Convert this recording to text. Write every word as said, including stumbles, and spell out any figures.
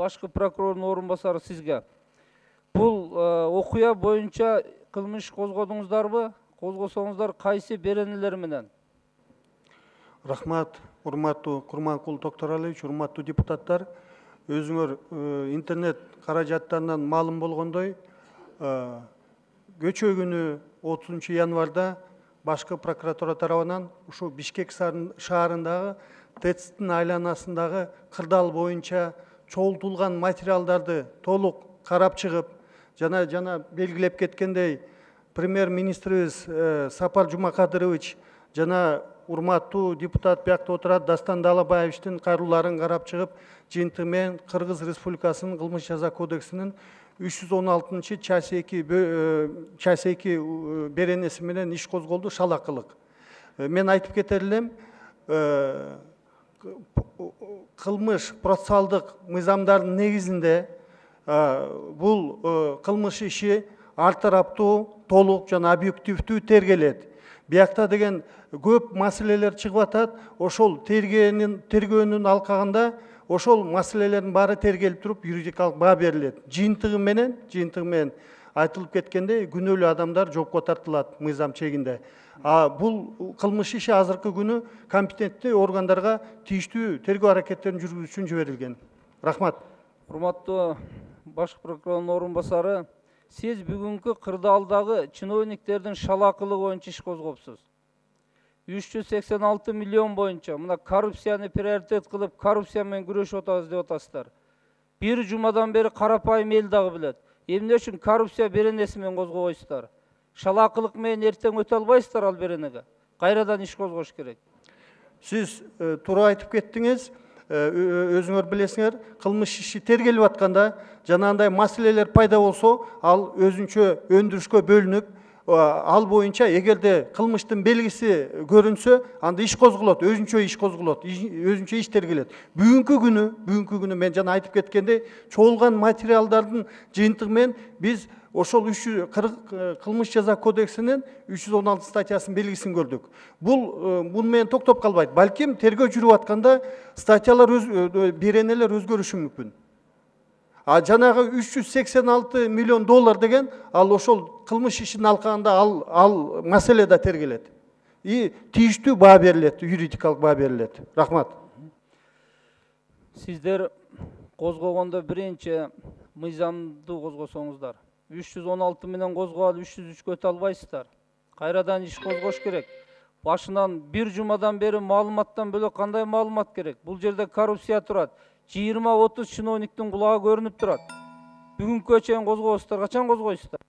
башкы прокурордун орун басары сизге. Бул окуя боюнча кылмыш козгодуңуздарбы? Козгосоңуздар кайсы беренелер менен? Рахмат, урматтуу Курманкул Токторалиевич, урматтуу депутаттар. Өзүңөр интернет каражаттарынан маалым болгондой, көчө күнү отузунчу январда башкы прокуратура тарабынан ушу Бишкек шаарындагы ТЭЦтин айланасындагы кырдаал боюнча чогултулган материалдарды толук карап чыгып, жана жана белгилеп кеткендей, премьер-министрибиз Сапар Жумакадырович жана урматтуу депутат биякта отурат Дастан Далабаевичтин кайрылууларын карап чыгып, жыйынтыгы менен Кыргыз Республикасынын кылмыш жаза кодексинин үч жүз он алтынчы часть эки часть эки беренеси менен иш козголду, шалакылык. Мен айтып кетер элем, кылмыш процессуалдык мыйзамдардын негизинде бул кылмыш иши ар тараптуу, толук жана объективдүү тергелет. Биякта деген көп маселелер чыгып атат. Ошол тергөөнүн тергөөнүн алкагында ошол маселелердин баары тергелип туруп, юридикалык баа берилет. Жыйынтыгы менен, жыйынтыгы менен айтылып кеткендей, күнөөлүү адамдар жоопко тартылат мыйзам чегинде. А бул кылмыш иши азыркы күнү компетенттүү органдарга тийиштүү тергөө аракеттерин жүргүзүү үчүн жиберилген. Рахмат. Урматтуу башкы прокурордун орун басары, сиз бүгүнкү кырдаалдагы чиновниктердин шалакылыгы боюнча иш козгопсуз. үч жүз сексен алты миллион боюнча мына коррупцияны приоритет кылып, коррупция менен күрөшүп атабыз деп атасыздар. Бир жумадан бери карапайым эл дагы билет. Эмне үчүн коррупция беренеси менен козгобойсуздар? Шалакылык менен эртең өтө албайсыздар ал беренеге. Кайрадан иш козгош керек. Сиз туура айтып кеттиңиз. Өзүңөр билесиңер, кылмыш иши тергелип атканда, жанагындай маселелер пайда болсо, ал өзүнчө өндүрүшкө бөлүнүп, ал боюнча эгерде кылмыштын белгиси көрүнсө, анда иш козголот, өзүнчө иш козголот, өзүнчө иш тергелет. Бүгүнкү күнү, бүгүнкү күнү мен жана айтып кеткендей, чогулган материалдардын жыйынтыгы менен биз ошол кылмыш жаза кодексинин үч жүз он алты статьясынын белгисин көрдүк. Бул муну менен токтоп калбайт. Балким тергөө жүрүп атканда статьялар, беренелер өзгөрүшү мүмкүн. А жанагы үч жүз сексен алты миллион доллар деген ал ошол кылмыш ишинин алкагында ал ал маселе да тергелет. И тийиштүү баа берилет, юридикалык баа берилет. Рахмат. Сиздер козгогондо биринчи мыйзамды козгосоңуздар. үч жүз он алты менен козгоп, үч жүз үчкө өтө албайсыздар. Кайрадан иш козгош керек. Башынан бир жумадан бери маалыматтан бөлөк кандай маалымат керек? Бул жерде коррупция турат. жыйырма отуз чиновниктин кулагы көрүнүп турат. Бүгүнкү чейин козгобойсуздар, качан козгойсуздар?